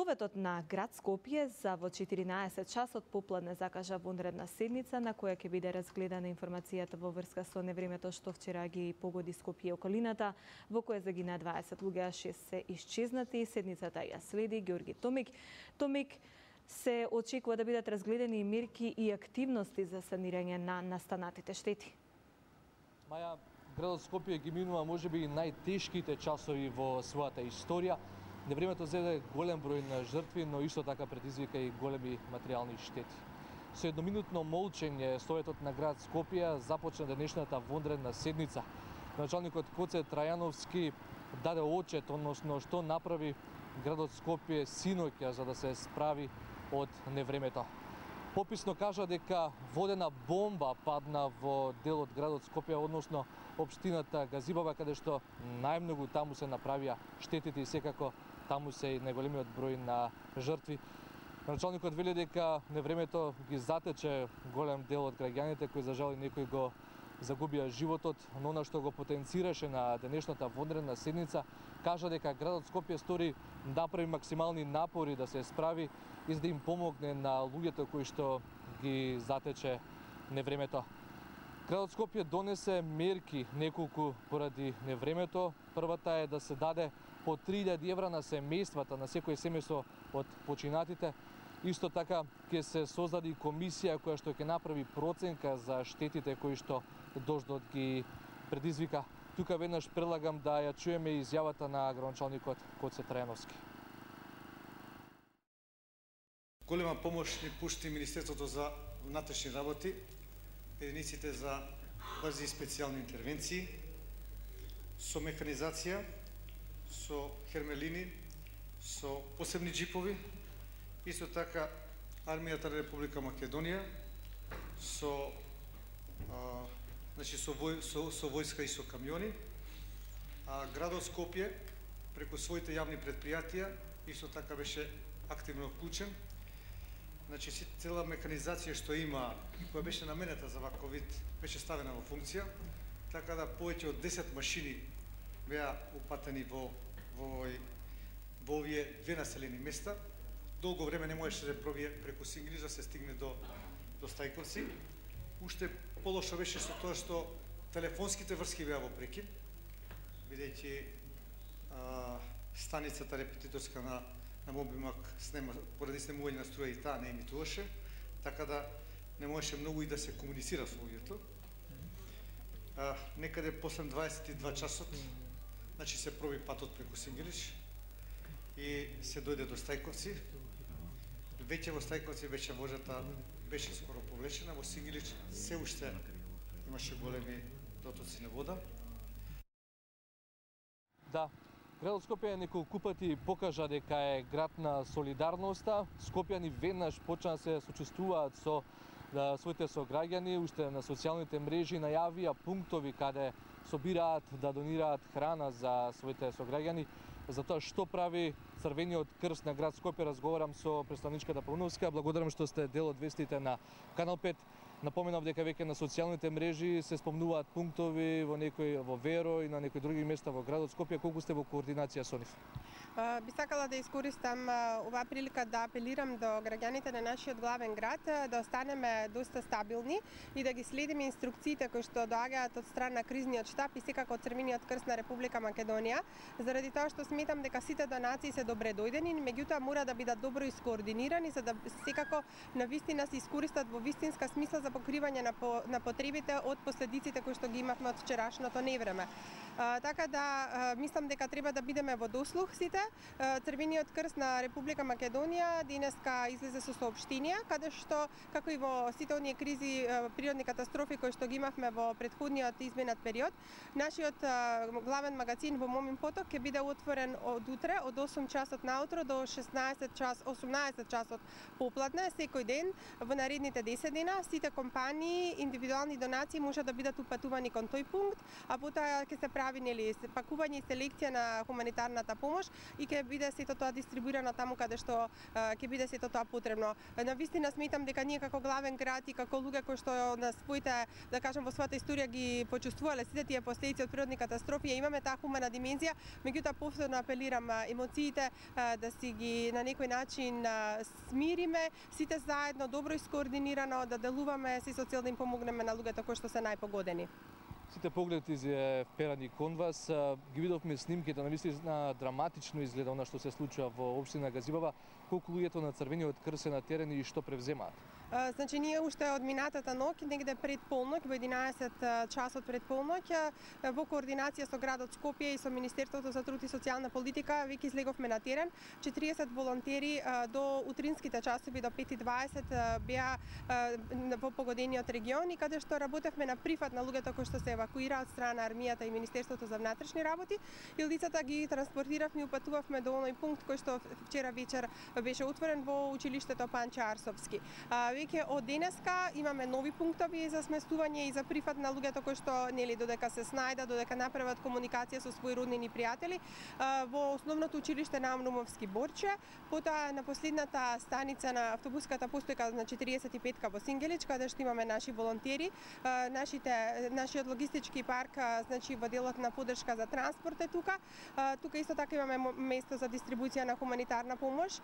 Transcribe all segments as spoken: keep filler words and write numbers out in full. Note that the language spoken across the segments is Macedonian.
Советот на град Скопје за во четиринаесет часот попладне закажа вонредна седница на која ќе биде разгледана информацијата во врска со невремето што вчера ги погоди Скопје и околината, во која загина дваесет луѓе, шест се исчезнати. Седницата ја следи Ѓорги Томик. Томик, се очекува да бидат разгледани мерки и активности за санирање на настанатите штети. Маја, градот Скопје ги минува можеби најтешките часови во својата историја. Невремето зеде голем број на жртви, но исто така предизвика и големи материјални штети. Со едноминутно молчење Советот на град Скопје започна денешната вонредна седница. Началникот Коце Трајановски даде отчет, односно што направи градот Скопје синоќа за да се справи од невремето. Пописно кажа дека водена бомба падна во дел од градот Скопје, односно општината Газибаба, каде што најмногу таму се направија штетите и секако таму се и најголемиот број на жртви. Началникот вели дека невремето ги затече голем дел од граѓаните кои за жал некои го загубија животот, но она што го потенцираше на денешната вонредна седница, кажа дека градот Скопје стори направи максимални напори да се справи и за да им помогне на луѓето кои што ги затече невремето. Градот Скопје донесе мерки неколку поради невремето. Првата е да се даде по три илјади евра на семејствата, на секој семејство од починатите. Исто така ќе се создаде комисија која што ќе направи проценка за штетите кои што дождот ги предизвика. Тука веднаш предлагам да ја чуеме изјавата на градоначалникот Коце Трајановски. Голема помош ни пушти Министерството за внатрешни работи, единиците за брзи и специјални интервенции, со механизација, со хермелини, со посебни джипови, исто така армијата на Република Македонија, со а, значи со, вој, со, со војска и со камиони, а градот Скопје преку своите јавни предпријатија исто така беше активно вклучен. Значи, цела механизација што има и која беше наменета за ваков вид беше ставена во функција, така да повеќе од десет машини беа упатени во во, во овие две населени места. Долго време не можеше да пробие преку Сингрич да се стигне до до Стајковци. Уште полошо беше со тоа што телефонските врски беа во прекин, бидејќи станицата репетиторска на на Мобимак снема, поради снемување на струја и таа не емитуваше, така да не можеше многу и да се комуницира со луѓето. Некаде после дваесет и два часот, значи се проби патот преку Сингрич и се дојде до Стајковци. Веќе во Стајковци беше вожата беше скоро повлечена, во Сингрич се уште имаше големи дотоци на вода. Да. Градот Скопје неколку пати покажа дека е град на солидарноста. Скопјани веднаш почна да се сочувствуваат со да, своите сограѓани, уште на социјалните мрежи најавија пунктови каде собираат да донираат храна за своите сограѓани. За тоа што прави Црвениот крст на град Скопје, разговарам со представничката Пауновска. Благодарам што сте дел од вестите на Канал пет. Напоменав дека веќе на социјалните мрежи се спомнуваат пунктови во некои во Веро и на некои други места во градот Скопје. Колку сте во координација со нив? Би сакала да искористам оваа прилика да апелирам до граѓаните на нашиот главен град да останеме доста стабилни и да ги следиме инструкциите кои што доаѓаат од страна на кризниот штаб и секако од Црвениот крст на Република Македонија, заради тоа што сметам дека сите донации се добре дојдени, меѓутоа мора да бидат добро искоординирани за да секако на вистина се искористат во вистинска смисла за покривање на, по, на потребите од последиците кои што ги имавме од вчерашното невреме. А, така да а, мислам дека треба да бидеме во дослух сите. А, Црвениот крст на Република Македонија денеска излезе со соопштенија каде што како и во сите оние кризи, а, природни катастрофи кои што ги имавме во претходниот изминат период, нашиот а, главен магазин во Момин поток ќе биде отворен од утре од осум часот наутро до шеснаесет час, осумнаесет часот попладне секој ден во наредните десет дена. Сите компании, индивидуални донации може да бидат упатувани кон тој пункт, а потоа ќе се прави нели пакување и селекција на хуманитарната помош и ќе биде сето тоа дистрибуирано таму каде што ќе биде сето тоа потребно. Навистина сметам дека ние како главен град и како луѓе кои што на своите, да кажам, во својата историја ги почувствувале сите тие последици од природни катастрофи, имаме таа хумана димензија, меѓутоа повторно апелирам емоциите да си ги на некој начин смириме, сите заедно добро искоординирано да делуваме си со цел да им помогнеме на луѓето кои што се најпогодени. Сите погледи се вперани кон вас. Ги видовме снимките, навистина драматично изгледа она што се случува во општина Газибава. Колку луѓето на Црвениот крст се на терен и што превземаат? Значи, ние уште од минатата ноќ, негде пред полноќ, во единаесет часот пред полноќ, во координација со градот Скопје и со Министерството за труд и социјална политика, веќе излеговме на терен. четириесет волонтери до утринските часови, до пет и дваесет, беа во погодениот регион и каде што работевме на прифат на луѓето кои што се евакуираа од страна на армијата и Министерството за внатрешни работи. И лицата ги транспортиравме и упатувавме до оној пункт кој што вчера вечер беше отворен во училиштето Панче Арсовски. Веќе од денеска имаме нови пунктови за сместување и за прифат на луѓето кои што нели додека се снајдат, додека направат комуникација со своји роднини и пријатели во основното училиште на Амнумовски Борче, потоа на последната станица на автобуската постојка на четириесет и петка во Сингелич, каде што имаме наши волонтери, нашите нашиот логистички парк, значи во делот на поддршка за транспорт е тука. Тука исто така имаме место за дистрибуција на хуманитарна помош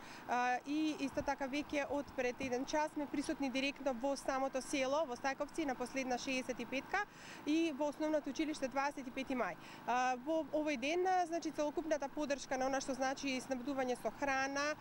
и исто така веќе од пред еден час сме присутни директно во самото село, во Стајковци, на последна шеесет и петка и во основното училиште дваесет и пети мај. Во овој ден, значи, целокупната поддршка на она што значи снабдување со храна,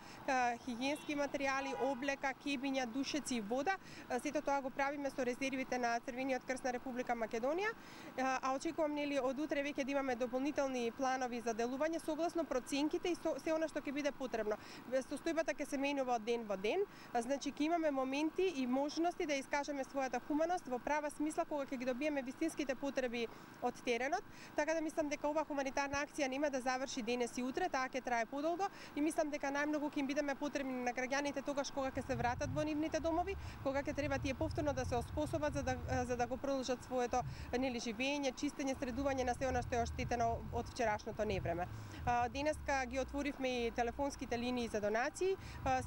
хигиенски материјали, облека, кебиња, душеци и вода, сето тоа го правиме со резервите на Црвениот крст на Република Македонија, а очекувам нели од утре веќе да имаме дополнителни планови за делување согласно проценките и со, се она што ќе биде потребно. Состојбата ќе се менува од ден во ден, значи ќе имаме моменти и можности да искажеме својата хуманост во права смисла кога ќе ги добиеме вистинските потреби од теренот, така да мислам дека ова хуманитарна акција нема да заврши денес и утре, таа ќе трае подолго и мислам дека најмногу ќе им бидеме потребни на граѓаните тогаш кога ќе се вратат во нивните домови, кога ќе треба тие повторно да се оспособат за да за да го продолжат своето нели живење, чистење, средување на се она што е оштетено од вчерашното невреме. Денеска ги отворивме и телефонските линии за донации,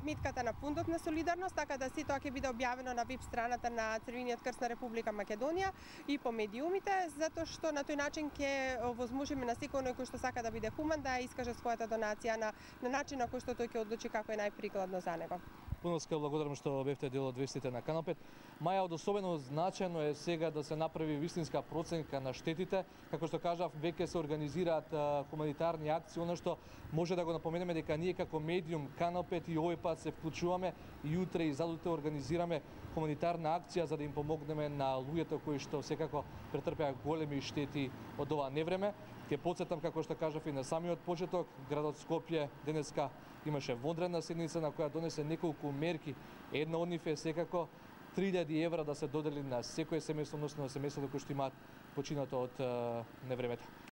сметката на фондот на солидарност, така да се тоа ќе биде објавено на веб страната на Црвениот крст на Република Македонија и по медиумите, затоа што на тој начин ќе овозможиме на секој кој што сака да биде хуман да искаже својата донација на на начин на кој што тој ќе одлучи како е најприкладно за него. Пуноска благодарам што бевте дел од вестите на Канал пет. Маја, од особено значајно е сега да се направи вистинска проценка на штетите. Како што кажав, веќе се организираат а, хуманитарни акции, она што може да го напоменеме дека ние како медиум Канал пет и овој пат се вклучуваме и утре и задутре организираме хуманитарна акција за да им помогнеме на луѓето кои што секако претрпеа големи штети од ова невреме. Ќе потсетам, како што кажав и на самиот почеток, градот Скопје денеска имаше вонредна седница на која донесе неколку мерки. Една од нив е секако три илјади евра да се додели на секој семејство, односно на семејството кои што имаат починато од невремето.